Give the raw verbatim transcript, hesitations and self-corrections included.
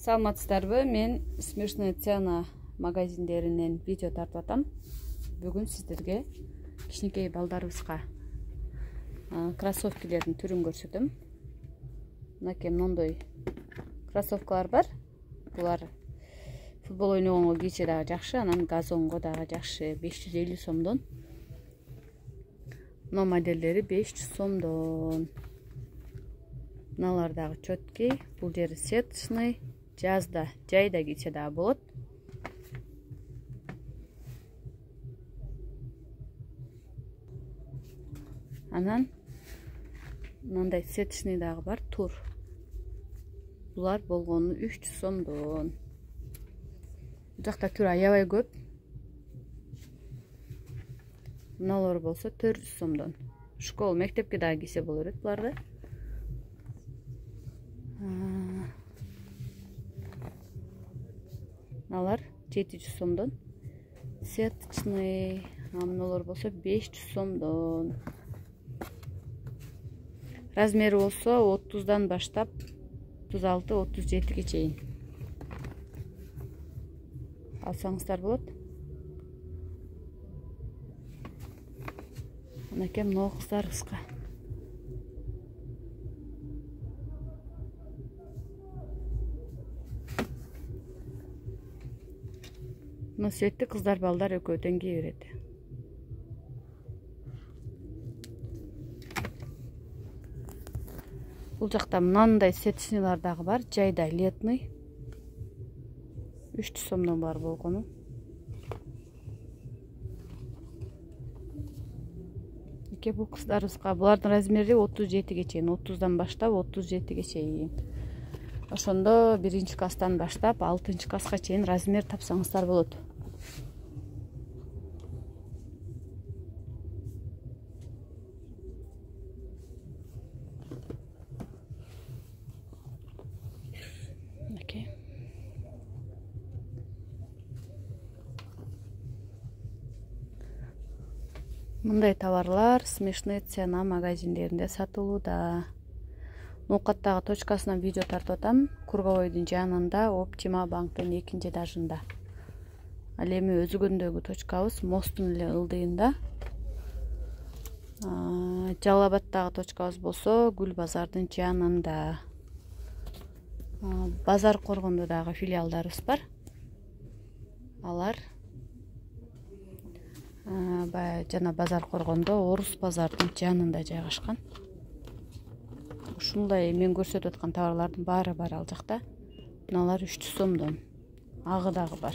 Саламатсыздарбы? Мен Смешная цена магазиндеринен видео тартып атам. Бүгүн сиздерге кичинекей балдарыбызга кроссовкилердин түрүн көрсөтөм. Мынакей мондой кроссовкалар бар. Булар футбол ойногонго кийсе дагы жакшы, анан газонго дагы жакшы. беш жүз элүү сомдон. Мына моделдери беш жүз сомдон. Мыналар дагы чөткей, бул жери сеточный, жазда, жайда кийсе дагы болот. Анан мындай сеточный дагы бар, тур. Булар болгону үч жүз сомдон. Бул жакта түр аябай көп. Мыналар болсо төрт жүз сомдон. Школ, мектепке дагы кийсе боло берет буларды. Мыналар жети жүз сомдон. Сеточный, мыналар болсо беш жүз сомдон. Размери болсо отуздан баштап отуз алты отуз жетиге чейин алсаңыздар болот. Мынакей мына кыздарыбызга. Мына светти кыздар балдар экөө тең кие берет. Бул жакта мынандай сеточныйлар дагы бар, жайда летный. үч жүз сомдон бар болгону. Эке бул кыздарыбызга, булардын размери отуз жетиге чейин, отуздан баштап отуз жетиге чейин. Ошондо биринчи класстан баштап алтынчы класска чейин размер тапсаңыздар болот. Мындай товарлар Смешная цена магазиндеринде сатылууда. Ноокаттагы точкасынан видео тартып атам. Кургабойдун жанында, Оптима банктын экинчи этажында. Ал эми Өзгөндөгү точкабыз Мосттун эле ылдыйында. Жалал Абадтагы точкабыз болсо Гүл базардын жанында. Базар Коргондо дагы филиалдарыбыз бар. Алар жана Базар Коргондо Орус базардын жанында жайгашкан. Ушундай мен көрсөтүп аткан товарлардын баары бар ал жакта. Мыналар үч жүз сомдон. Агы дагы бар.